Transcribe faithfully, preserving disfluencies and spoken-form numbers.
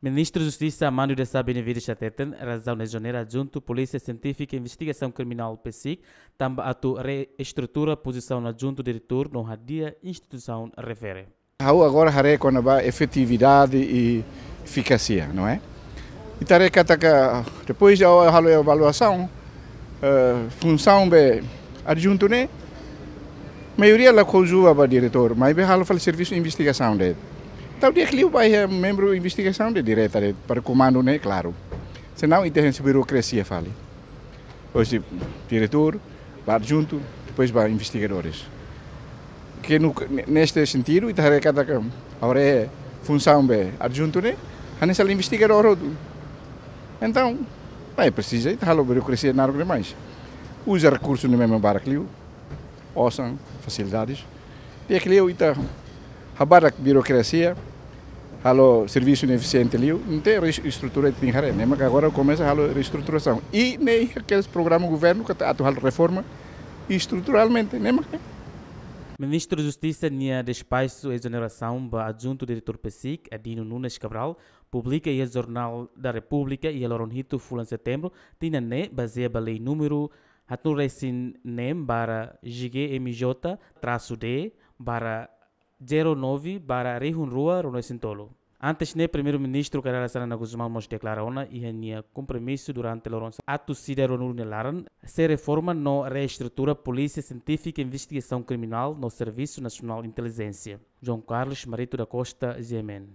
Ministru Justisa Armando Desa Benevides hateten, razaun ezonera adjuntu Polísia Sientífika Investigasaun Kriminál, PSIK, tanba atu reestrutura pozisaun adjuntu diretór no hadi'a instituisaun refere. Ha'u agora haree kona-ba efetividade i efikásia, não é? Ita haree katak depois de halo avaliasaun, eh, funsaun be adjuntu ne'e, maioria la kojuva ba diretór, maibé halo fali servisu investigasaun de'it. Entaun di'ak liu ba iha membru investigasaun de'it direta de'it, para komandu ne'e klaru. Senão ita iha burokrasia fali. Hoje diretór, ba adjuntu, depois ba investigadores. Ke no, ne-, neste sentidu, ita haree katak agora funsaun be adjuntu ne'e, hanesan investigadór hotu. Entaun, ne'e presiza, ita halo burokrasia naruk demais. Uza rekursu ne'e memang barak liu, osan, fasilidades. Di'ak liu ita habadak burokrasia, halo servisu ne'e efisiente liu, entaun reestrutura tenke haree. Ne'e mak agora komesa halo reestruturasaun. I ne'e iha programa governu katak atu halo reforma estruturalmente, ne'e mak ne'e. Ministru Justisa nia despaxu ezonerasaun ba adjuntu diretór PSIK, Adino Nunes Cabral, publika iha Jornál da Repúblika iha loron hitu fulan Setembru, tinan ne'e, bazeia ba lei númeru haatnulu resin neen barra G G M J trasu D barra zero nove barra rihun rua ruanulu resin tolu. Antes ne'e, Primeiru-Ministru Kay Rala Xanana Gusmão mós deklara ona iha nia kompromisu durante loron atu sira ruanulu nia laran, sei reforma no reestrutura Polísia Sientífika Investigasaun Kriminál no Servisu Nasionál Intelijénsia. João Carlos Marito da Costa, G M N.